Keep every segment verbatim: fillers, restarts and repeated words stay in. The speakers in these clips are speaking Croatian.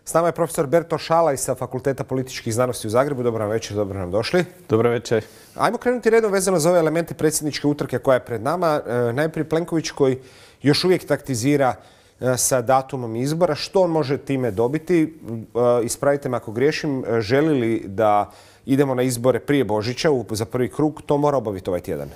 S nama je profesor Berto Šalaj sa Fakulteta političkih znanosti u Zagrebu. Dobro nam večer, dobro nam došli. Dobro večer. Ajmo krenuti redom vezano za ove elemente predsjedničke utrke koja je pred nama. Najprije Plenković koji još uvijek taktizira sa datumom izbora. Što on može time dobiti? Ispravite me ako griješim. Želi li da idemo na izbore prije Božića za prvi krug? To mora obaviti ovaj tjedan.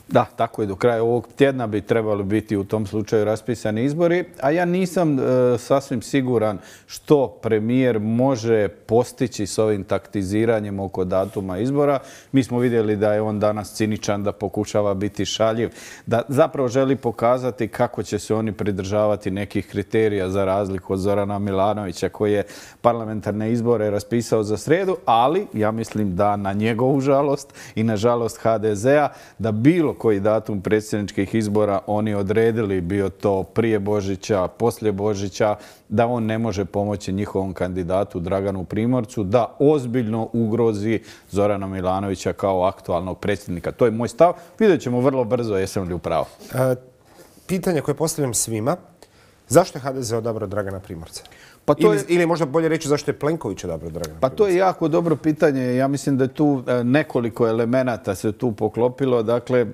Da, tako je. Do kraja ovog tjedna bi trebali biti u tom slučaju raspisani izbori, a ja nisam e, sasvim siguran što premijer može postići s ovim taktiziranjem oko datuma izbora. Mi smo vidjeli da je on danas ciničan, da pokušava biti šaljiv, da zapravo želi pokazati kako će se oni pridržavati nekih kriterija za razliku od Zorana Milanovića koji je parlamentarne izbore raspisao za srijedu, ali ja mislim da na njegovu žalost i na žalost ha de zea da bilo koji datum predsjedničkih izbora oni odredili, bio to prije Božića, poslije Božića, da on ne može pomoći njihovom kandidatu Draganu Primorcu da ozbiljno ugrozi Zorana Milanovića kao aktualnog predsjednika. To je moj stav. Vidjet ćemo vrlo brzo jesam li u pravu. E, pitanje koje postavljam svima. Zašto je ha de ze odabrao Dragana Primorca? Pa to je, ili, ili možda bolje reći zašto je Plenković odabrao Dragana Pa Primorca? to je jako dobro pitanje. Ja mislim da je tu nekoliko elemenata se tu poklopilo. Dakle,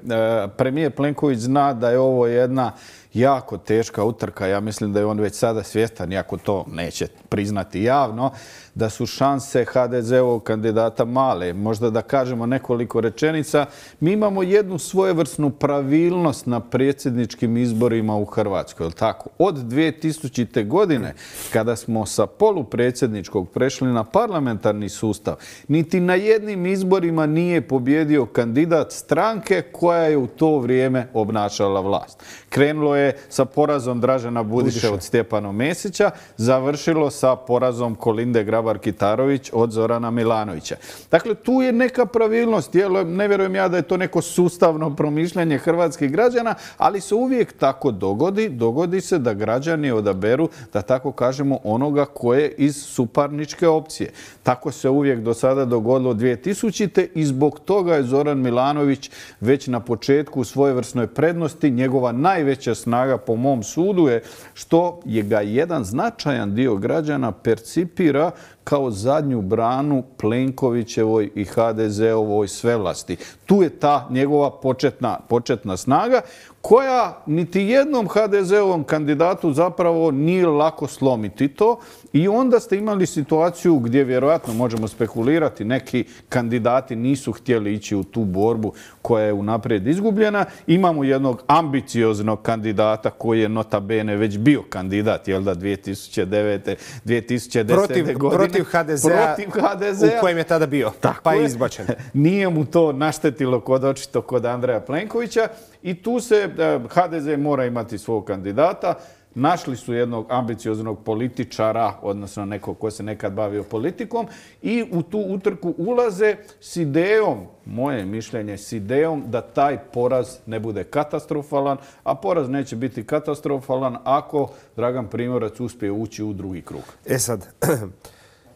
premijer Plenković zna da je ovo jedna jako teška utrka. Ja mislim da je on već sada svjestan, iako to neće priznati javno, da su šanse ha de zeovog kandidata male. Možda da kažemo nekoliko rečenica. Mi imamo jednu svojevrsnu pravilnost na predsjedničkim izborima u Hrvatskoj. Je li tako? Od dvije tisućite. godine, kada smo sa polupredsjedničkog prešli na parlamentarni sustav, niti na jednim izborima nije pobjedio kandidat stranke koja je u to vrijeme obnašala vlast. Krenulo je sa porazom Dražena Budiše od Stjepana Mesića, završilo sa porazom Kolinde Grabar-Kitarović od Zorana Milanovića. Dakle, tu je neka pravilnost. Ne vjerujem ja da je to neko sustavno promišljanje hrvatskih građana, ali se uvijek tako dogodi. Dogodi se da građani odaberu, da tako kažemo, onoga koje iz suparničke opcije. Tako se uvijek do sada dogodilo dvije tisućite. i zbog toga je Zoran Milanović već na početku u svojevrsnoj prednosti. Njegova najveća snaga po mom sudu je što je ga jedan značajan dio građana percipira kao zadnju branu Plenkovićevoj i ha de zeovoj svevlasti. Tu je ta njegova početna, početna snaga koja niti jednom ha de zeovom kandidatu zapravo nije lako slomiti to. I onda ste imali situaciju gdje vjerojatno možemo spekulirati, neki kandidati nisu htjeli ići u tu borbu koja je unaprijed izgubljena. Imamo jednog ambicioznog kandidata koji je nota bene već bio kandidat, jel da, dvije tisuće devete. dvije tisuće desete. Protiv, godine. Protiv ha de zea, protiv ha de zea, u kojem je tada bio, tako pa je je izbačen. Nije mu to naštetilo kod očito kod Andreja Plenkovića i tu se ha de ze mora imati svog kandidata. Našli su jednog ambicioznog političara, odnosno nekog ko se nekad bavio politikom i u tu utrku ulaze s idejom, moje mišljenje, s idejom da taj poraz ne bude katastrofalan, a poraz neće biti katastrofalan ako Dragan Primorac uspije ući u drugi krug. E sad,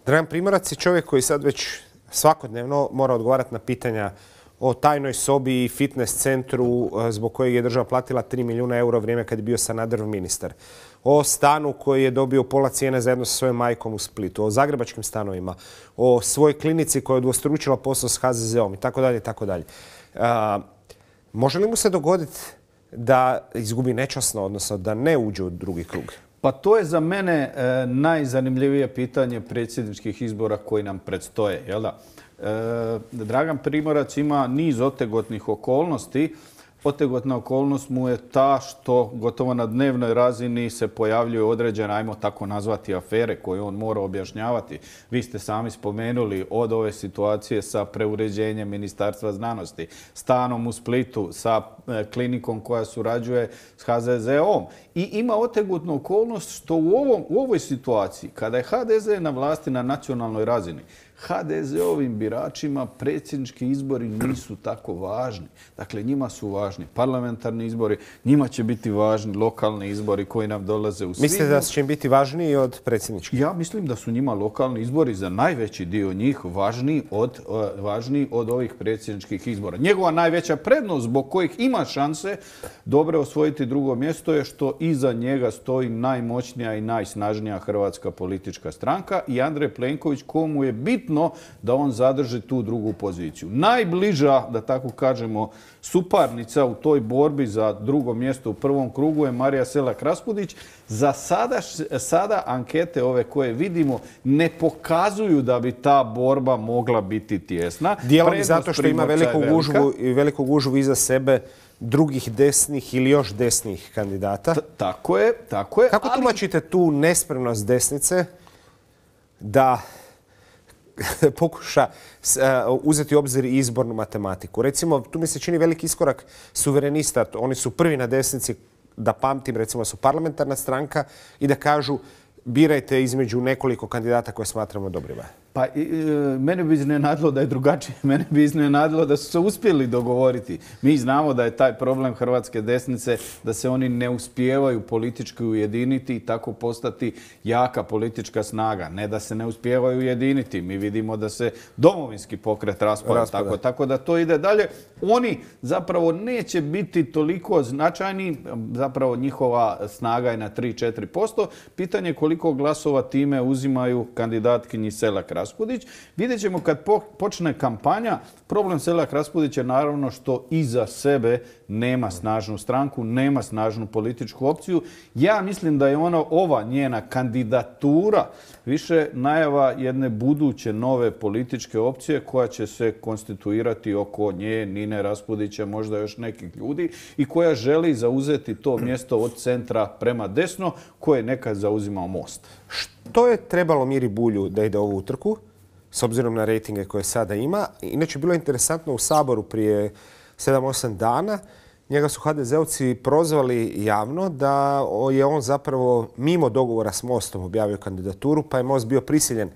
Dragan Primorac je čovjek koji sad već svakodnevno mora odgovarati na pitanja o tajnoj sobi i fitness centru zbog kojeg je država platila tri milijuna eura u vrijeme kad je bio Sanaderov ministar. O stanu koji je dobio pola cijene zajedno sa svojom majkom u Splitu. O zagrebačkim stanovima. O svojoj klinici koja je udvostručila posao s ha de zeom i tako dalje i tako dalje. Može li mu se dogoditi da izgubi nečasno, odnosno da ne uđe u drugi krug? Pa to je za mene e, najzanimljivije pitanje predsjedničkih izbora koji nam predstoje. Jel da? E, Dragan Primorac ima niz otegotnih okolnosti. Otegotna okolnost mu je ta što gotovo na dnevnoj razini se pojavljuju određene, ajmo tako nazvati, afere koje on mora objašnjavati. Vi ste sami spomenuli od ove situacije sa preuređenjem Ministarstva znanosti, stanom u Splitu, sa klinikom koja surađuje s ha de zeom. I ima otegotnu okolnost što u, ovom, u ovoj situaciji, kada je ha de ze na vlasti na nacionalnoj razini, ha de ze-ovim biračima predsjednički izbori nisu tako važni. Dakle, njima su važni parlamentarni izbori, njima će biti važni lokalni izbori koji nam dolaze u svibnju. Mislite da će im biti važniji od predsjedničkih? Ja mislim da su njima lokalni izbori za najveći dio njih važniji od, važniji od ovih predsjedničkih izbora. Njegova najveća prednost zbog kojih ima šanse dobro osvojiti drugo mjesto je što iza njega stoji najmoćnija i najsnažnija hrvatska politička stranka i Andrej Plenković, komu je bitno da on zadrži tu drugu poziciju. Najbliža, da tako kažemo, suparnica u toj borbi za drugo mjesto u prvom krugu je Marija Selak-Raspudić. Za sada, sada ankete ove koje vidimo ne pokazuju da bi ta borba mogla biti tjesna. Dijelom i zato što ima veliku gužvu i veliku gužvu iza sebe drugih desnih ili još desnih kandidata. Tako je, tako je. Kako ali... tumačite tu nespremnost desnice da pokuša uzeti u obzir izbornu matematiku? Recimo, tu mi se čini veliki iskorak suverenista. Oni su prvi na desnici, da pamtim, recimo su parlamentarna stranka i da kažu birajte između nekoliko kandidata koje smatramo dobrima. Pa e, mene bi iznenadilo da je drugačije. Mene bi iznenadilo da su se uspjeli dogovoriti. Mi znamo da je taj problem hrvatske desnice, da se oni ne uspijevaju politički ujediniti i tako postati jaka politička snaga. Ne da se ne uspijevaju ujediniti. Mi vidimo da se domovinski pokret raspada. Tako, tako da to ide dalje. Oni zapravo neće biti toliko značajni. Zapravo njihova snaga je na tri do četiri posto. Pitanje je koliko glasova time uzimaju kandidatkinji Selak-Raspudić. Vidjet ćemo kad po, počne kampanja. Problem Selak-Raspudić je naravno što iza sebe nema snažnu stranku, nema snažnu političku opciju. Ja mislim da je ona, ova njena kandidatura više najava jedne buduće nove političke opcije koja će se konstituirati oko nje, Nine Raspudića, možda još nekih ljudi i koja želi zauzeti to mjesto od centra prema desno koje je nekad zauzimao Most. Što je trebalo Miri Bulju da ide ovu utrku, s obzirom na rejtinge koje sada ima? Inače, bilo je interesantno u Saboru prije sedam osam dana. Njega su ha de ze-ovci prozvali javno da je on zapravo mimo dogovora s Mostom objavio kandidaturu, pa je Most bio prisiljen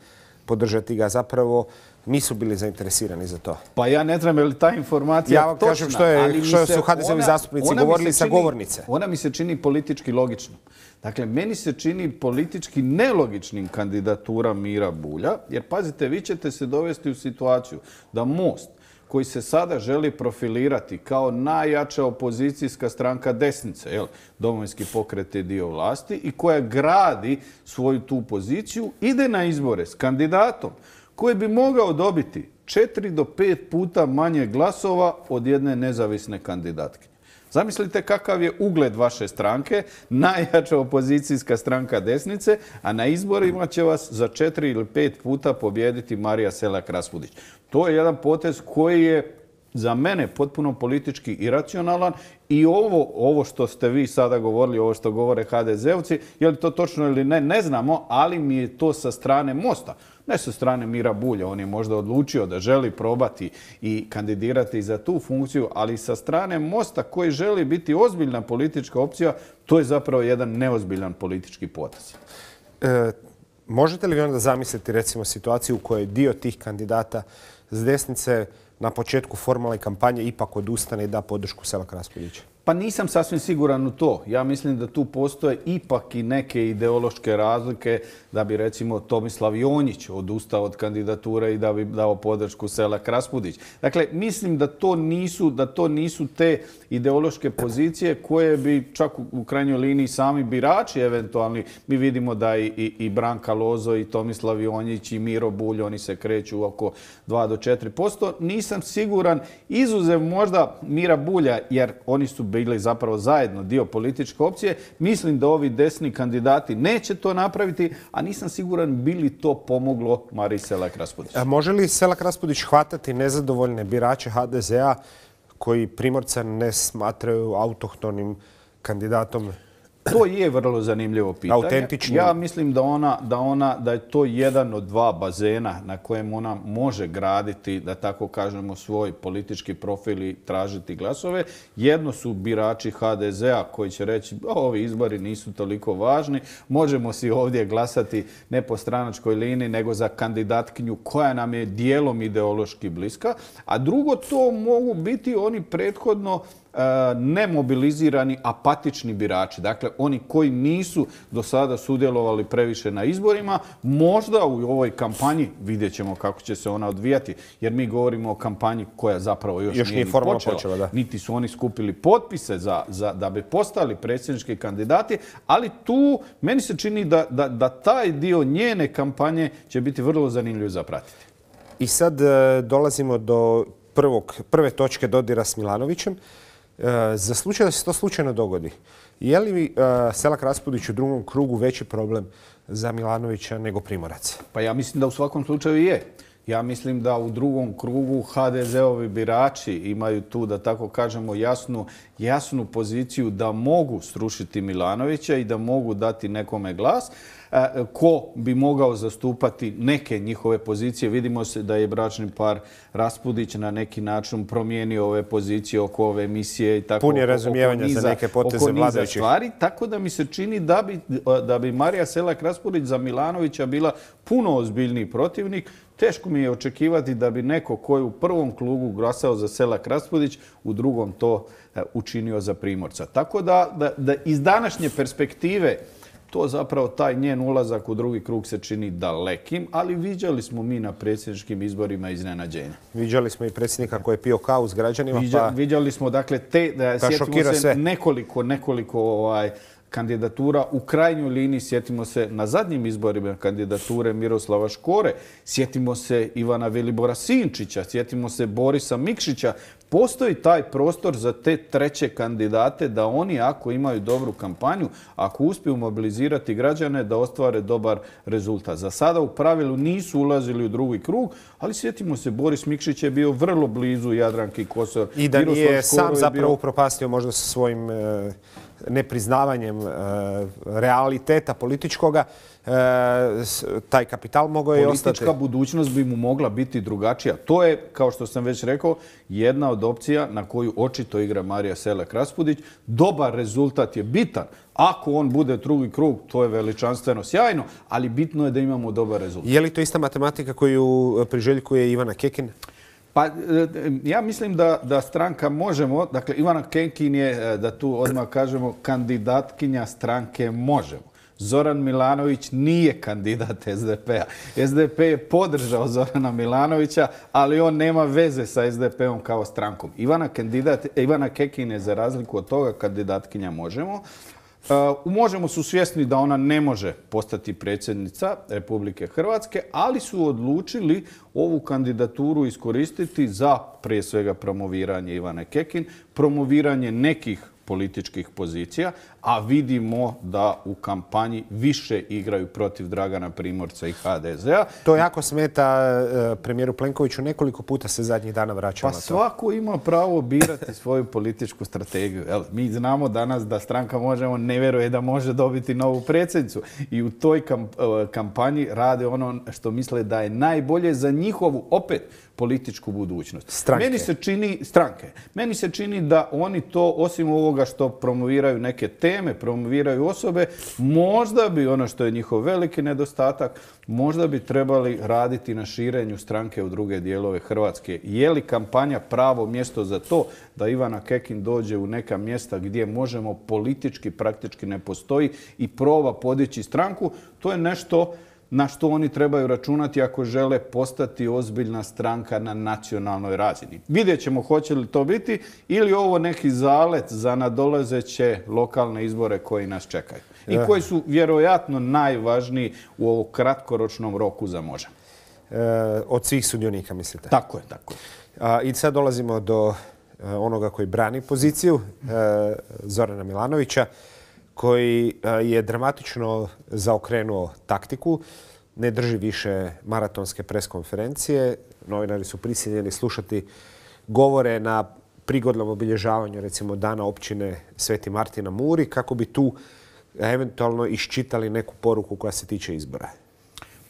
podržati ga. Zapravo nisu bili zainteresirani za to. Pa ja ne znam je li ta informacija ja točna. Kažem što, je, što su ha de ze-ovi zastupnici govorili sa govornice. Ona mi se čini politički logičnom. Dakle, meni se čini politički nelogičnim kandidatura Mira Bulja, jer pazite, vi ćete se dovesti u situaciju da Most, koji se sada želi profilirati kao najjača opozicijska stranka desnice, jel? Domovinski pokret je dio vlasti i koja gradi svoju tu poziciju, ide na izbore s kandidatom koji bi mogao dobiti četiri do pet puta manje glasova od jedne nezavisne kandidatke. Zamislite kakav je ugled vaše stranke, najjača opozicijska stranka desnice, a na izborima će vas za četiri ili pet puta pobijediti Marija Selak-Raspudić. To je jedan potez koji je za mene potpuno politički iracionalan i ovo, ovo što ste vi sada govorili, ovo što govore ha de ze-ovci, je li to točno ili ne, ne znamo, ali mi je to sa strane Mosta. Ne sa strane Mira Bulja, on je možda odlučio da želi probati i kandidirati za tu funkciju, ali sa strane Mosta koji želi biti ozbiljna politička opcija, to je zapravo jedan neozbiljan politički potez. E, možete li vi onda zamisliti recimo situaciju u kojoj dio tih kandidata s desnice na početku formalne kampanje ipak odustane i da podršku Selak-Raspudiću? Pa nisam sasvim siguran u to. Ja mislim da tu postoje ipak i neke ideološke razlike da bi recimo Tomislav Jonjić odustao od kandidature i da bi dao podršku Selak-Raspudić. Dakle, mislim da to nisu, da to nisu te ideološke pozicije koje bi čak u krajnjoj liniji sami birači eventualni. Mi vidimo da i, i, i Branka Lozo i Tomislav Jonjić i Miro Bulj, oni se kreću oko dva do četiri posto. Nisam siguran, izuzev možda Mira Bulja, jer oni su bili zapravo zajedno dio političke opcije. Mislim da ovi desni kandidati neće to napraviti, a nisam siguran bi li to pomoglo Mariji Selak-Raspudić. Može li Selak-Raspudić hvatati nezadovoljne birače ha de ze-a koji Primorca ne smatraju autohtonim kandidatom To je vrlo zanimljivo pitanje. Autentični. Ja mislim da ona, da ona, da je to jedan od dva bazena na kojem ona može graditi, da tako kažemo, svoj politički profil i tražiti glasove. Jedno su birači ha de zea koji će reći ovi izbori nisu toliko važni, možemo si ovdje glasati ne po stranačkoj liniji, nego za kandidatkinju koja nam je dijelom ideološki bliska. A drugo, to mogu biti oni prethodno nemobilizirani, apatični birači. Dakle, oni koji nisu do sada sudjelovali previše na izborima, možda u ovoj kampanji, vidjet ćemo kako će se ona odvijati, jer mi govorimo o kampanji koja zapravo još, još nije, nije formalno počela. počela. Da. Niti su oni skupili potpise za, za, da bi postali predsjednički kandidati, ali tu meni se čini da, da, da taj dio njene kampanje će biti vrlo zanimljiv za pratiti. I sad e, dolazimo do prvog, prve točke dodira s Milanovićem. Za slučaj da se to slučajno dogodi, je li Selak Raspudić u drugom krugu veći problem za Milanovića nego Primorac? Pa ja mislim da u svakom slučaju je. Ja mislim da u drugom krugu ha de zeovi birači imaju tu, da tako kažemo, jasnu, jasnu poziciju da mogu srušiti Milanovića i da mogu dati nekome glas. Ko bi mogao zastupati neke njihove pozicije. Vidimo se da je bračni par Raspudić na neki način promijenio ove pozicije oko ove emisije i tako. Pun je razumijevanja niza, za neke poteze vladajućih. Stvari, tako da mi se čini da bi, da bi Marija Selak Raspudić za Milanovića bila puno ozbiljniji protivnik. Teško mi je očekivati da bi neko koji u prvom krugu glasao za Selak Raspudić u drugom to učinio za Primorca. Tako da, da, da iz današnje perspektive to zapravo taj njen ulazak u drugi krug se čini dalekim, ali viđali smo mi na predsjedničkim izborima iznenađenja. Viđali smo i predsjednika koji je pio kavu s građanima. Viđa, pa... Viđali smo, dakle, te, da, sjetimo se sve. nekoliko, nekoliko ovaj, kandidatura. U krajnjoj liniji sjetimo se na zadnjim izborima kandidature Miroslava Škore, sjetimo se Ivana Vilibora Sinčića, sjetimo se Borisa Mikšića. Postoji taj prostor za te treće kandidate da oni, ako imaju dobru kampanju, ako uspiju mobilizirati građane, da ostvare dobar rezultat. Za sada u pravilu nisu ulazili u drugi krug, ali sjetimo se, Boris Mikšić je bio vrlo blizu Jadranki Kosor. I da nije sam zapravo upropastio možda sa svojim e, nepriznavanjem e, realiteta političkoga, e, taj kapital mogao je ostati. Politička budućnost bi mu mogla biti drugačija. To je, kao što sam već rekao, jedna od opcija na koju očito igra Marija Selak Raspudić. Dobar rezultat je bitan. Ako on bude drugi krug, to je veličanstveno sjajno, ali bitno je da imamo dobar rezultat. Je li to ista matematika koju priželjkuje Ivana Kekin? Pa ja mislim da, da stranka Možemo, dakle Ivana Kekin je, da tu odmah kažemo, kandidatkinja stranke Možemo. Zoran Milanović nije kandidat es de pe a. es de pe je podržao Zorana Milanovića, ali on nema veze sa es de pe om kao strankom. Ivana, kandidat, Ivana Kekin je za razliku od toga kandidatkinja Možemo. U Možemo su svjesni da ona ne može postati predsjednica Republike Hrvatske, ali su odlučili ovu kandidaturu iskoristiti za prije svega promoviranje Ivane Kekin, promoviranje nekih političkih pozicija, a vidimo da u kampanji više igraju protiv Dragana Primorca i ha de zea. To jako smeta premijeru Plenkoviću. Nekoliko puta se zadnjih dana vraćao pa na to. Svako ima pravo birati svoju političku strategiju. Jel, mi znamo danas da stranka Možemo ne vjeruje da može dobiti novu predsjednicu. I u toj kampanji rade ono što misle da je najbolje za njihovu, opet, političku budućnost. Stranke. Meni se čini, stranke. Meni se čini da oni to, osim ovoga što promoviraju neke teme, promoviraju osobe, možda bi, ono što je njihov veliki nedostatak, možda bi trebali raditi na širenju stranke u druge dijelove Hrvatske. Je li kampanja pravo mjesto za to da Ivana Kekin dođe u neka mjesta gdje Možemo politički praktički ne postoji i proba podići stranku? To je nešto na što oni trebaju računati ako žele postati ozbiljna stranka na nacionalnoj razini. Vidjet ćemo hoće li to biti ili ovo neki zalet za nadolazeće lokalne izbore koji nas čekaju. I koji su vjerojatno najvažniji u ovom kratkoročnom roku za Možemo. E, od svih sudionika, mislite? Tako je, tako je. A, I sad dolazimo do onoga koji brani poziciju, e, Zorana Milanovića, koji je dramatično zaokrenuo taktiku, ne drži više maratonske preskonferencije. Novinari su prisiljeni slušati govore na prigodnom obilježavanju, recimo, dana općine Sveti Martin na Muri, kako bi tu eventualno iščitali neku poruku koja se tiče izbora?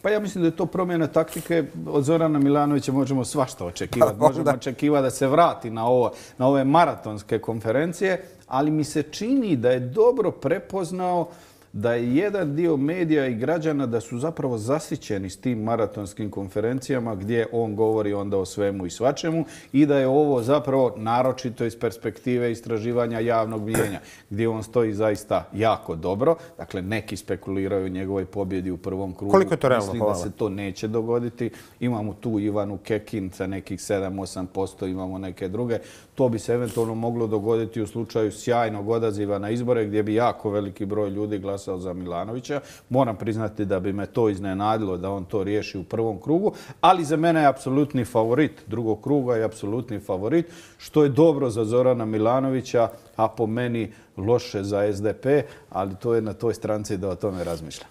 Pa ja mislim da je to promjena taktike. Od Zorana Milanovića možemo svašta očekivati. Možemo očekivati da se vrati na, ovo, na ove maratonske konferencije, ali mi se čini da je dobro prepoznao da je jedan dio medija i građana da su zapravo zasićeni s tim maratonskim konferencijama gdje on govori onda o svemu i svačemu i da je ovo zapravo naročito iz perspektive istraživanja javnog mijenja gdje on stoji zaista jako dobro. Dakle, neki spekuliraju o njegovoj pobjedi u prvom krugu. Koliko je to realno? Mislim da se to neće dogoditi. Imamo tu Ivanu Kekin sa nekih sedam do osam posto, imamo neke druge. To bi se eventualno moglo dogoditi u slučaju sjajnog odaziva na izbore gdje bi jako veliki broj ljudi glasao za Milanovića. Moram priznati da bi me to iznenadilo da on to riješi u prvom krugu, ali za mene je apsolutni favorit drugog kruga i apsolutni favorit, što je dobro za Zorana Milanovića, a po meni loše za S D P, ali to je na toj stranci da o tome razmišlja.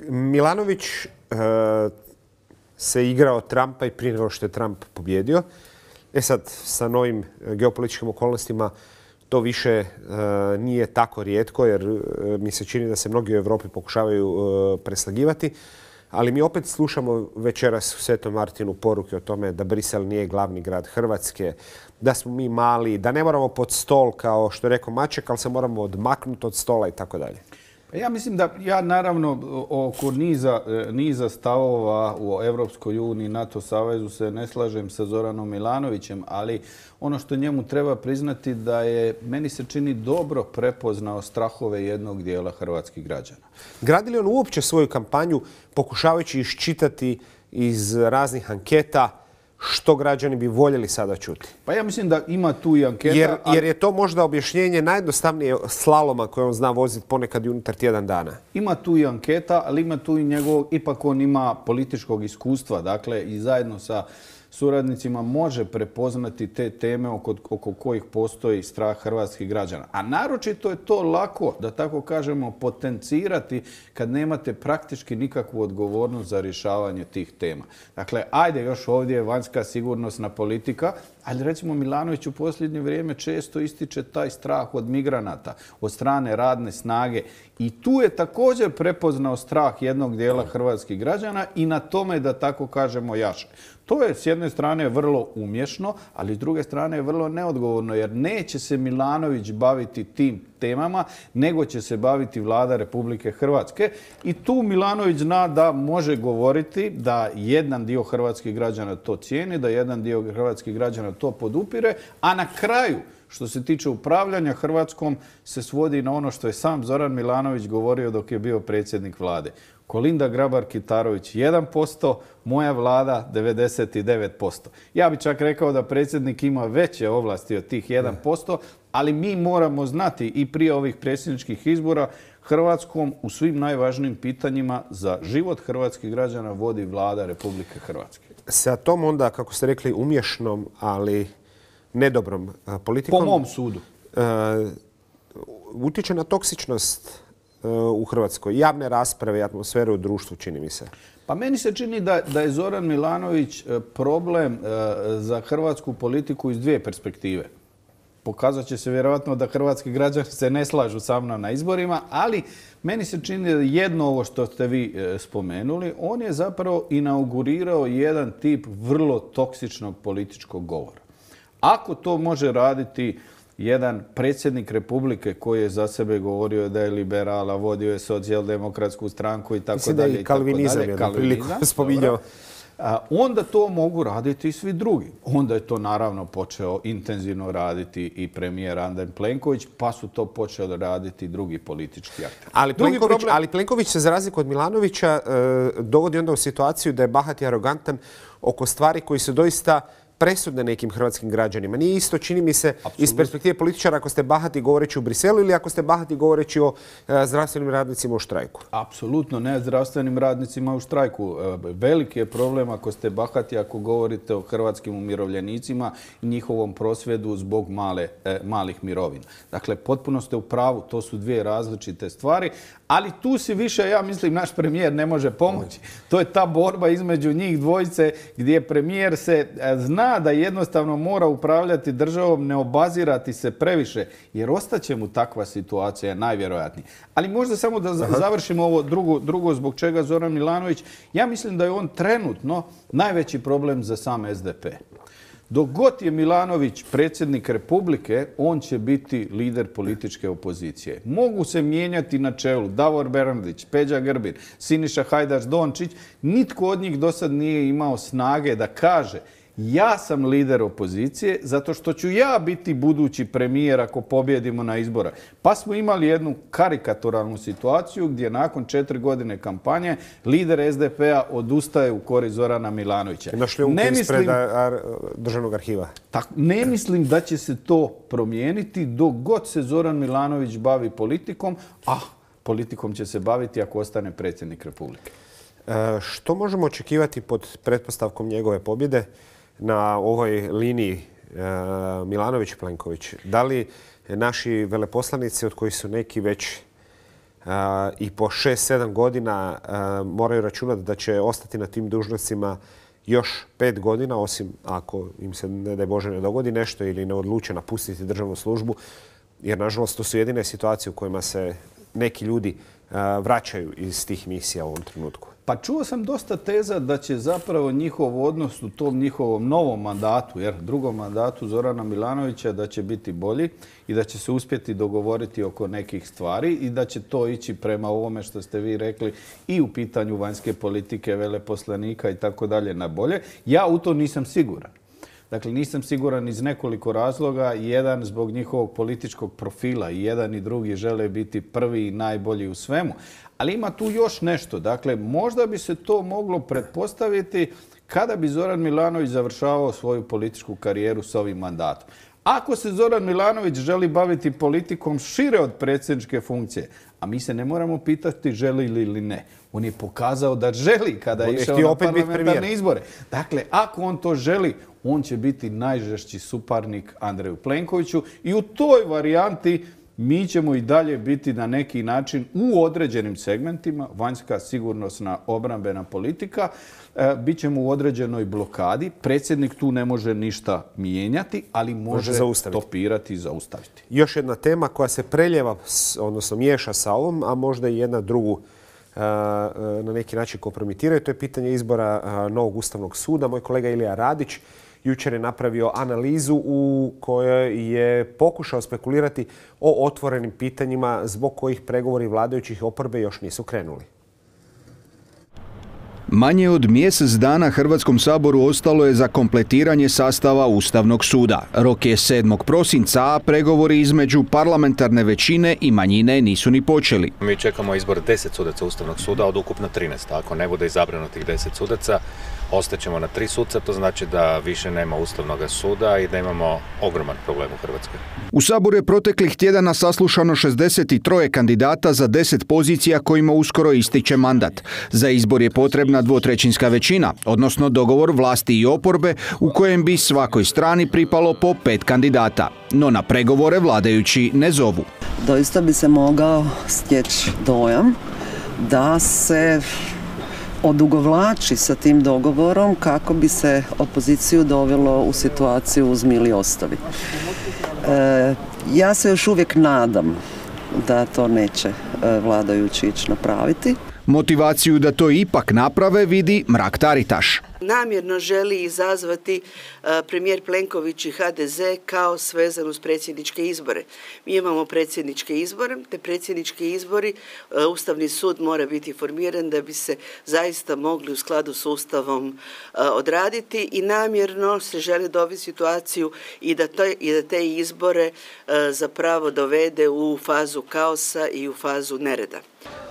Milanović e, se igrao Trumpa i prije nego što je Trump pobjedio. E sad, sa novim geopolitičkim okolnostima to više e, nije tako rijetko, jer e, mi se čini da se mnogi u Europi pokušavaju e, preslagivati. Ali mi opet slušamo večeras u Svetom Martinu poruke o tome da Brisel nije glavni grad Hrvatske, da smo mi mali, da ne moramo pod stol kao što je rekao Maček, ali se moramo odmaknuti od stola i tako dalje. Ja mislim da ja naravno oko niza, niza stavova u Evropskoj uniji, NATO savezu se ne slažem sa Zoranom Milanovićem, ali ono što njemu treba priznati da je, meni se čini, dobro prepoznao strahove jednog dijela hrvatskih građana. Gradi li on uopće svoju kampanju pokušavajući iščitati iz raznih anketa što građani bi voljeli sada čuti? Pa ja mislim da ima tu i anketa. Jer, jer je to možda objašnjenje najjednostavnije slaloma koje on zna voziti ponekad i unutar tjedan dana. Ima tu i anketa, ali ima tu i njegovog, ipak on ima političkog iskustva, dakle i zajedno sa suradnicima može prepoznati te teme oko, oko kojih postoji strah hrvatskih građana. A naročito je to lako, da tako kažemo, potencirati kad nemate praktički nikakvu odgovornost za rješavanje tih tema. Dakle, ajde još ovdje je vanjska sigurnosna politika, ali recimo Milanović u posljednje vrijeme često ističe taj strah od migranata, od strane radne snage. I tu je također prepoznao strah jednog dijela hrvatskih građana i na tome, da tako kažemo, jaše. To je s jedne strane vrlo umješno, ali s druge strane je vrlo neodgovorno, jer neće se Milanović baviti tim temama, nego će se baviti Vlada Republike Hrvatske. I tu Milanović zna da može govoriti da jedan dio hrvatskih građana to cijeni, da jedan dio hrvatskih građana to podupire, a na kraju, što se tiče upravljanja Hrvatskom, se svodi na ono što je sam Zoran Milanović govorio dok je bio predsjednik vlade. Kolinda Grabar-Kitarović jedan posto, moja vlada devedeset devet posto. Ja bih čak rekao da predsjednik ima veće ovlasti od tih jedan posto, ali mi moramo znati i prije ovih predsjedničkih izbora Hrvatskom u svim najvažnijim pitanjima za život hrvatskih građana vodi Vlada Republike Hrvatske. Sa tom onda, kako ste rekli, umješnom, ali nedobrom politikom... Po mom sudu. Uh, utječe na toksičnost uh, u Hrvatskoj. Javne rasprave i atmosfere u društvu, čini mi se. Pa meni se čini da, da je Zoran Milanović problem uh, za hrvatsku politiku iz dvije perspektive. Pokazat će se vjerojatno da hrvatski građani se ne slažu sa mnom na izborima, ali meni se čini da jedno ovo što ste vi e, spomenuli, on je zapravo inaugurirao jedan tip vrlo toksičnog političkog govora. Ako to može raditi jedan predsjednik Republike koji je za sebe govorio da je liberala, vodio je socijaldemokratsku stranku i tako Mislim dalje. Mislim da i kalvinizam je na priliku spominjao. Onda to mogu raditi i svi drugi. Onda je to naravno počeo intenzivno raditi i premijer Andrej Plenković, pa su to počeli raditi drugi politički akteri. Ali Plenković, problem... ali Plenković se za razliku od Milanovića dovodi onda u situaciju da je bahat i arogantan oko stvari koji su doista presudne nekim hrvatskim građanima. Nije isto, čini mi se, Absolutno. Iz perspektive političara ako ste bahati govoreći u Briselu ili ako ste bahati govoreći o e, zdravstvenim radnicima u štrajku. Apsolutno ne zdravstvenim radnicima u štrajku. E, veliki je problem ako ste bahati ako govorite o hrvatskim umirovljenicima i njihovom prosvjedu zbog male, e, malih mirovina. Dakle, potpuno ste u pravu, to su dvije različite stvari, ali tu si više, ja mislim, naš premijer ne može pomoći. To je ta borba između njih dvojice gdje premijer se zna zna da jednostavno mora upravljati državom, ne obazirati se previše, jer ostaće mu takva situacija najvjerojatnije. Ali možda samo da završimo ovo drugo, drugo zbog čega Zoran Milanović. Ja mislim da je on trenutno najveći problem za sam S D P. Dok god je Milanović predsjednik Republike, on će biti lider političke opozicije. Mogu se mijenjati na čelu Davor Bernardić, Peđa Grbin, Siniša Hajdaš Dončić. Nitko od njih do sad nije imao snage da kaže ja sam lider opozicije zato što ću ja biti budući premijer ako pobjedimo na izbora. Pa smo imali jednu karikaturalnu situaciju gdje nakon četiri godine kampanje lider S D P-a odustaje u korist Zorana Milanovića. Našli u ispred državnog arhiva. Tak, ne mislim da će se to promijeniti dok god se Zoran Milanović bavi politikom, a politikom će se baviti ako ostane predsjednik Republike. E, što možemo očekivati pod pretpostavkom njegove pobjede na ovoj liniji e, Milanović-Plenković? Da li naši veleposlanici, od kojih su neki već e, i po šest sedam godina e, moraju računati da će ostati na tim dužnostima još pet godina, osim ako im se, ne daj Bože, ne dogodi nešto ili ne odluče napustiti državnu službu, jer nažalost to su jedine situacije u kojima se neki ljudi e, vraćaju iz tih misija u ovom trenutku. Pa čuo sam dosta teza da će zapravo njihov odnos u tom njihovom novom mandatu, jer drugom mandatu Zorana Milanovića, da će biti bolji i da će se uspjeti dogovoriti oko nekih stvari i da će to ići prema ovome što ste vi rekli i u pitanju vanjske politike, veleposlanika i tako dalje na bolje. Ja u to nisam siguran. Dakle, nisam siguran iz nekoliko razloga. Jedan zbog njihovog političkog profila. I jedan i drugi žele biti prvi i najbolji u svemu. Ali ima tu još nešto. Dakle, možda bi se to moglo pretpostaviti kada bi Zoran Milanović završavao svoju političku karijeru s ovim mandatom. Ako se Zoran Milanović želi baviti politikom šire od predsjedničke funkcije, a mi se ne moramo pitati želi li ili ne. On je pokazao da želi kada je išao na parlamentarne izbore. Dakle, ako on to želi, on će biti najžešći suparnik Andreju Plenkoviću i u toj varijanti mi ćemo i dalje biti na neki način u određenim segmentima, vanjska, sigurnosna, obrambena politika, e, bit ćemo u određenoj blokadi. Predsjednik tu ne može ništa mijenjati, ali može, može stopirati i zaustaviti. Još jedna tema koja se preljeva, odnosno miješa sa ovom, a možda i jedna drugu e, na neki način kompromitiraju, to je pitanje izbora e, novog Ustavnog suda. Moj kolega Ilija Radić jučer je napravio analizu u kojoj je pokušao spekulirati o otvorenim pitanjima zbog kojih pregovori vladajućih oporbe još nisu krenuli. Manje od mjesec dana Hrvatskom saboru ostalo je za kompletiranje sastava Ustavnog suda. Rok je sedmog prosinca, a pregovori između parlamentarne većine i manjine nisu ni počeli. Mi čekamo izbor deset sudaca Ustavnog suda od ukupno trinaest. Ako ne bude izabrano tih deset sudaca, ostaćemo na tri suca, to znači da više nema Ustavnog suda i da imamo ogroman problem u Hrvatskoj. U Saboru je proteklih tjedana saslušano šezdeset tri kandidata za deset pozicija kojima uskoro ističe mandat. Za izbor je potrebna dvotrećinska većina, odnosno dogovor vlasti i oporbe u kojem bi svakoj strani pripalo po pet kandidata. No na pregovore vladajući ne zovu. Doista bi se mogao stječi dojam da se odugovlači sa tim dogovorom kako bi se opoziciju dovelo u situaciju uzmi ili ostavi. E, ja se još uvijek nadam da to neće vladajući ići napraviti. Motivaciju da to ipak naprave vidi Mrak-Taritaš. Namjerno želi izazvati premijer Plenković i ha de ze kao svezan uz predsjedničke izbore. Mi imamo predsjedničke izbore, te predsjednički izbori Ustavni sud mora biti formiran da bi se zaista mogli u skladu s Ustavom odraditi i namjerno se želi dovesti situaciju i da, to, i da te izbore zapravo dovede u fazu kaosa i u fazu nereda.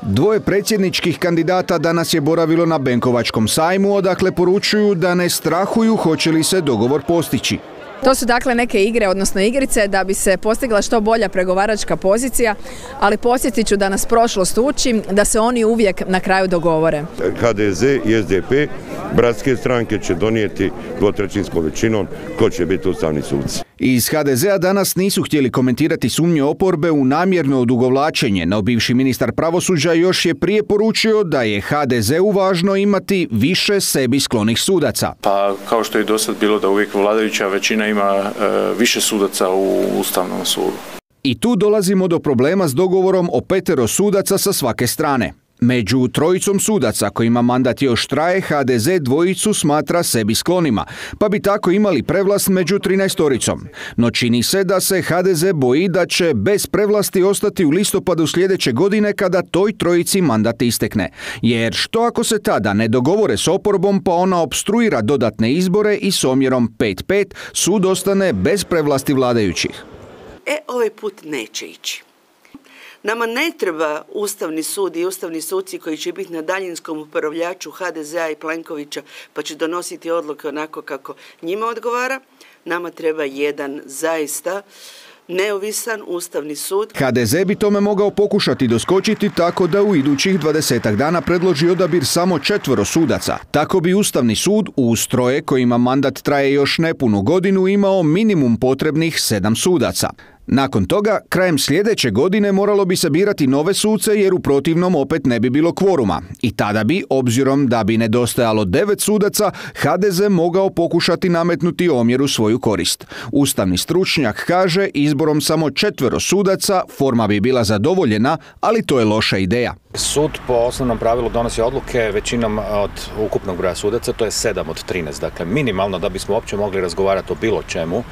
Dvoje predsjedničkih kandidata danas je boravilo na Benkovačkom sajmu, odakle poručuju da ne strahuju hoće li se dogovor postići. To su dakle neke igre, odnosno igrice da bi se postigla što bolja pregovaračka pozicija, ali podsjetit ću da nas prošlost uči da se oni uvijek na kraju dogovore. ha de ze i es de pe, bratske stranke, će donijeti dvotrećinskom većinom ko će biti ustavni suci. Iz ha de zea danas nisu htjeli komentirati sumnje oporbe u namjerno odugovlačenje, no bivši ministar pravosuđa još je prije poručio da je ha de zeu važno imati više sebi sklonih sudaca. Pa kao što je do sad bilo da uvijek vladajuća većina ima e, više sudaca u Ustavnom sudu. I tu dolazimo do problema s dogovorom o petero sudaca sa svake strane. Među trojicom sudaca kojima mandat još traje, ha de ze dvojicu smatra sebi sklonima, pa bi tako imali prevlast među trinaestoricom. No čini se da se ha de ze boji da će bez prevlasti ostati u listopadu sljedeće godine kada toj trojici mandat istekne. Jer što ako se tada ne dogovore s oporbom pa ona opstruira dodatne izbore i s omjerom pet pet sud ostane bez prevlasti vladajućih? E, ovaj put neće ići. Nama ne treba Ustavni sud i ustavni suci koji će biti na daljinskom upravljaču ha de zea i Plenkovića pa će donositi odluke onako kako njima odgovara. Nama treba jedan zaista neovisan Ustavni sud. ha de ze bi tome mogao pokušati doskočiti tako da u idućih dvadesetak dana predloži odabir samo četvoro sudaca. Tako bi Ustavni sud uz troje kojima mandat traje još nepunu godinu imao minimum potrebnih sedam sudaca. Nakon toga, krajem sljedeće godine moralo bi se birati nove suce jer u protivnom opet ne bi bilo kvoruma. I tada bi, obzirom da bi nedostajalo devet sudaca, ha de ze mogao pokušati nametnuti omjer u svoju korist. Ustavni stručnjak kaže izborom samo četvero sudaca forma bi bila zadovoljena, ali to je loša ideja. Sud po osnovnom pravilu donosi odluke većinom od ukupnog broja sudaca, to je sedam od trinaest. Dakle, minimalno da bismo uopće mogli razgovarati o bilo čemu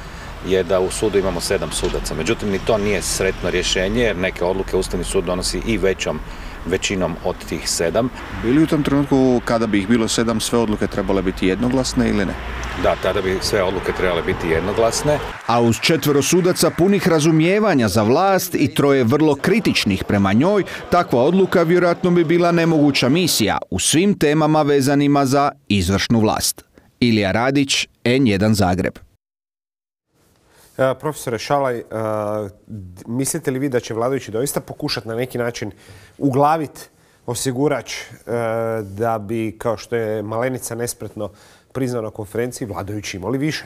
je da u sudu imamo sedam sudaca. Međutim, ni to nije sretno rješenje jer neke odluke Ustavni sud donosi i većom većinom od tih sedam. Bili u tom trenutku kada bi ih bilo sedam sve odluke trebale biti jednoglasne ili ne? Da, tada bi sve odluke trebale biti jednoglasne. A uz četvero sudaca punih razumijevanja za vlast i troje vrlo kritičnih prema njoj, takva odluka vjerojatno bi bila nemoguća misija u svim temama vezanima za izvršnu vlast. Ilija Radić, en jedan Zagreb. Profesore Šalaj, mislite li vi da će vladajući doista pokušati na neki način uglaviti osigurač da bi, kao što je Malenica nespretno priznao na konferenciji, vladajući imali više?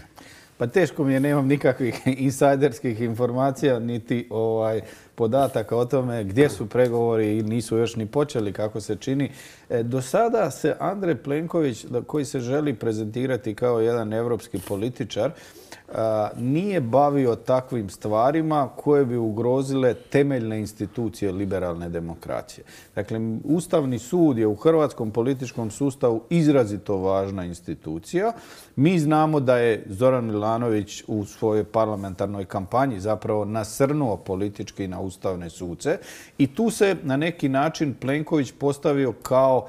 Pa teško mi je, nemam nikakvih insajderskih informacija, niti ovaj, podataka o tome gdje su pregovori i nisu još ni počeli, kako se čini. E, do sada se Andrej Plenković, koji se želi prezentirati kao jedan evropski političar, a, nije bavio takvim stvarima koje bi ugrozile temeljne institucije liberalne demokracije. Dakle, Ustavni sud je u hrvatskom političkom sustavu izrazito važna institucija. Mi znamo da je Zoran Milanović u svojoj parlamentarnoj kampanji zapravo nasrnuo politički na ustavne suce i tu se na neki način Plenković postavio kao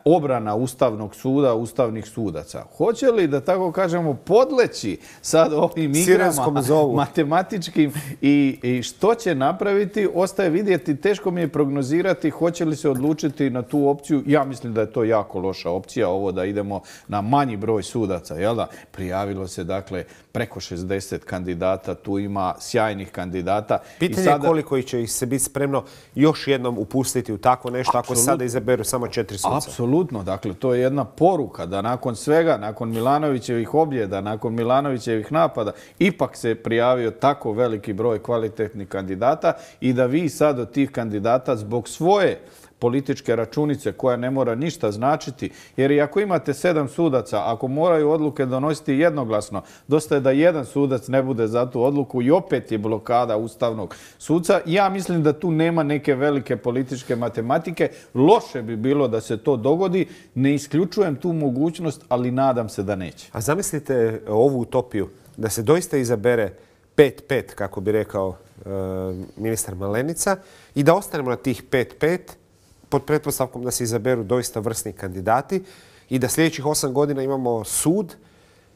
obrana Ustavnog suda, ustavnih sudaca. Hoće li, da tako kažemo, podleći sad ovim igrama matematičkim i, i što će napraviti, ostaje vidjeti. Teško mi je prognozirati hoće li se odlučiti na tu opciju. Ja mislim da je to jako loša opcija, ovo da idemo na manji broj sudaca. Jel da? Prijavilo se, dakle, preko šezdeset kandidata, tu ima sjajnih kandidata. Pitanje je koliko će ih se biti spremno još jednom upustiti u tako nešto ako sada izaberu samo četiri suca. Apsolutno, dakle, to je jedna poruka da nakon svega, nakon Milanovićevih objeda, nakon Milanovićevih napada, ipak se prijavio tako veliki broj kvalitetnih kandidata i da vi sad od tih kandidata zbog svoje političke računice koja ne mora ništa značiti, jer i ako imate sedam sudaca, ako moraju odluke donositi jednoglasno, dosta je da jedan sudac ne bude za tu odluku i opet je blokada ustavnog suca. Ja mislim da tu nema neke velike političke matematike. Loše bi bilo da se to dogodi. Ne isključujem tu mogućnost, ali nadam se da neće. A zamislite ovu utopiju, da se doista izabere pet pet, kako bi rekao e, ministar Malenica, i da ostanemo na tih pet pet, pod pretpostavkom da se izaberu doista vrsni kandidati i da sljedećih osam godina imamo sud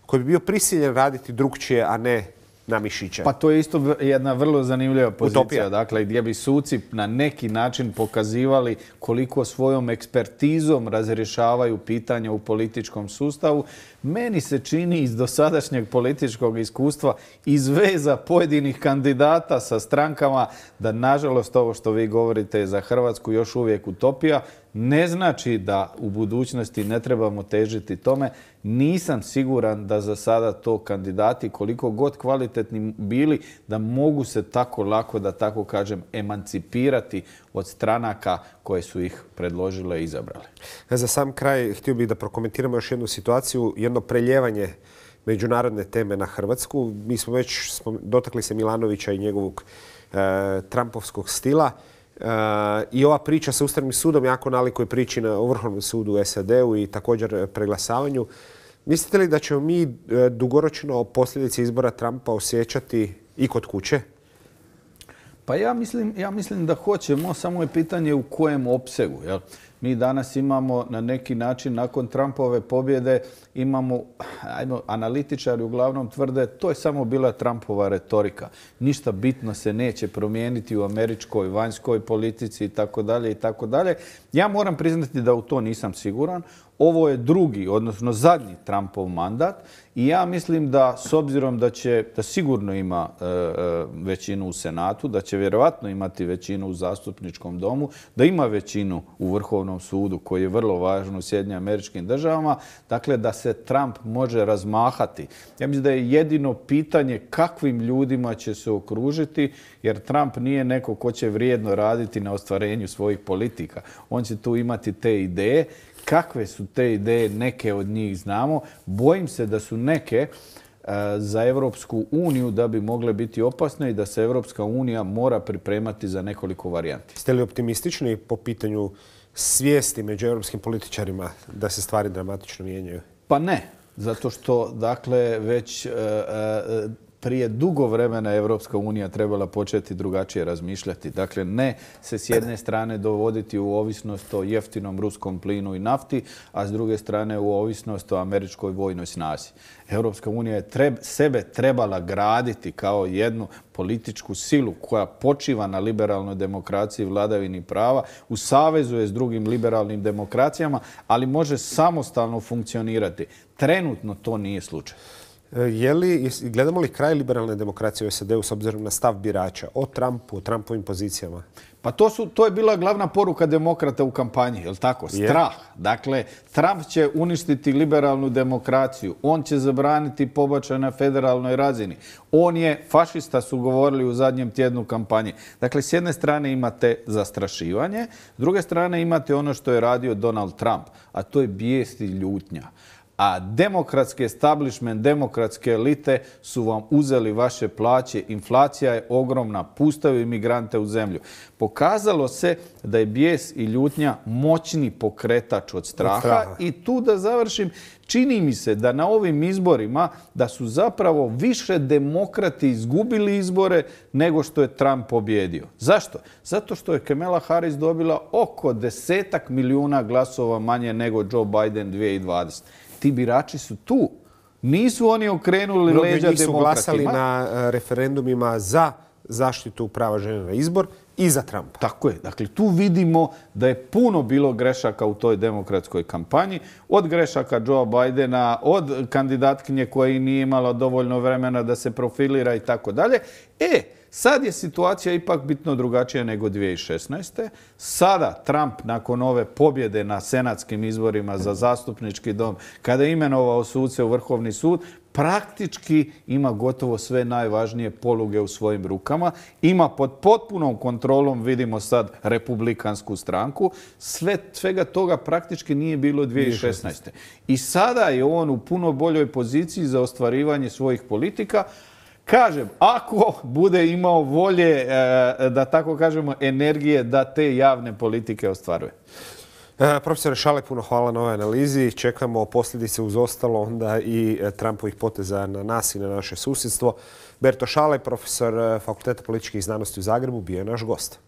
koji bi bio prisiljen raditi drugčije, a ne na mišiće. Pa to je isto jedna vrlo zanimljiva pozicija. Utopija. Dakle, gdje bi suci na neki način pokazivali koliko svojom ekspertizom razrješavaju pitanja u političkom sustavu. Meni se čini iz dosadašnjeg političkog iskustva, iz veza pojedinih kandidata sa strankama, da nažalost ovo što vi govorite je za Hrvatsku još uvijek utopija. ne znači da u budućnosti ne trebamo težiti tome. Nisam siguran da za sada to kandidati, koliko god kvalitetni bili, da mogu se tako lako, da tako kažem, emancipirati od stranaka koje su ih predložile i izabrale. Za sam kraj htio bih da prokomentiramo još jednu situaciju, jedno preljevanje međunarodne teme na Hrvatsku. Mi smo već dotakli se Milanovića i njegovog e, Trumpovskog stila. E, I ova priča sa Ustavnim sudom jako nalikuje priči na Vrhovnom sudu u S A D-u i također preglasavanju. Mislite li da ćemo mi e, dugoročno posljedice izbora Trumpa osjećati i kod kuće? Pa ja mislim, ja mislim da hoćemo, samo je pitanje u kojem opsegu. Jel? Mi danas imamo na neki način, nakon Trumpove pobjede, imamo, ajmo, analitičari uglavnom tvrde, to je samo bila Trumpova retorika. Ništa bitno se neće promijeniti u američkoj vanjskoj politici i tako dalje i tako dalje. Ja moram priznati da u to nisam siguran. Ovo je drugi, odnosno zadnji Trumpov mandat i ja mislim da s obzirom da će, da sigurno ima e, većinu u Senatu, da će vjerovatno imati većinu u zastupničkom domu, da ima većinu u Vrhovnom sudu koji je vrlo važan u Sjedinjenim Američkim Državama, dakle da se Trump može razmahati. Ja mislim da je jedino pitanje kakvim ljudima će se okružiti, jer Trump nije neko ko će vrijedno raditi na ostvarenju svojih politika. On će tu imati te ideje. Kakve su te ideje, neke od njih znamo. Bojim se da su neke uh, za Europsku uniju da bi mogle biti opasne i da se Europska unija mora pripremati za nekoliko varijanti. Ste li optimistični po pitanju svijesti među europskim političarima da se stvari dramatično mijenjaju? Pa ne, zato što dakle već uh, uh, prije dugo vremena Evropska unija trebala početi drugačije razmišljati. Dakle, ne se s jedne strane dovoditi u ovisnost o jeftinom ruskom plinu i nafti, a s druge strane u ovisnost o američkoj vojnoj snazi. Evropska unija je treb, sebe trebala graditi kao jednu političku silu koja počiva na liberalnoj demokraciji i vladavini prava, u savezu je s drugim liberalnim demokracijama, ali može samostalno funkcionirati. Trenutno to nije slučaj. Je li, gledamo li kraj liberalne demokracije u S A D-u s obzirom na stav birača o Trumpu, o Trumpovim pozicijama? Pa to, su, to je bila glavna poruka demokrata u kampanji, je li tako? Strah. Dakle, Trump će uništiti liberalnu demokraciju. On će zabraniti pobačaj na federalnoj razini. On je fašista, su govorili u zadnjem tjednu kampanje. Dakle, s jedne strane imate zastrašivanje, s druge strane imate ono što je radio Donald Trump, a to je bijes i ljutnja. A demokratski establishment, demokratske elite su vam uzeli vaše plaće. Inflacija je ogromna, puštaju imigrante u zemlju. Pokazalo se da je bijes i ljutnja moćni pokretač od straha. Od straha. I tu da završim, čini mi se da na ovim izborima da su zapravo više demokrati izgubili izbore nego što je Trump pobjedio. Zašto? Zato što je Kamala Harris dobila oko desetak milijuna glasova manje nego Joe Biden dvije tisuće dvadesete. Ti birači su tu. Nisu oni okrenuli leđa demokratima. Mnogi su glasali na referendumima za zaštitu prava žene na izbor i za Trumpa. Tako je. Dakle, tu vidimo da je puno bilo grešaka u toj demokratskoj kampanji. Od grešaka Joea Bidena, od kandidatkinje koja nije imala dovoljno vremena da se profilira i tako dalje. E, sad je situacija ipak bitno drugačija nego dvije tisuće šesnaeste. Sada Trump nakon ove pobjede na senatskim izborima za zastupnički dom, kada je imenovao suce u Vrhovni sud, praktički ima gotovo sve najvažnije poluge u svojim rukama. Ima pod potpunom kontrolom, vidimo sad, republikansku stranku. Sve, svega toga praktički nije bilo dvije tisuće šesnaeste. I sada je on u puno boljoj poziciji za ostvarivanje svojih politika. Kažem, ako bude imao volje, da tako kažemo, energije da te javne politike ostvaruje. E, profesore Šalek, puno hvala na ovoj analizi. Čekamo posljedice uz ostalo onda i Trumpovih poteza na nas i na naše susjedstvo. Berto Šalek, profesor Fakulteta političkih znanosti u Zagrebu, bio je naš gost.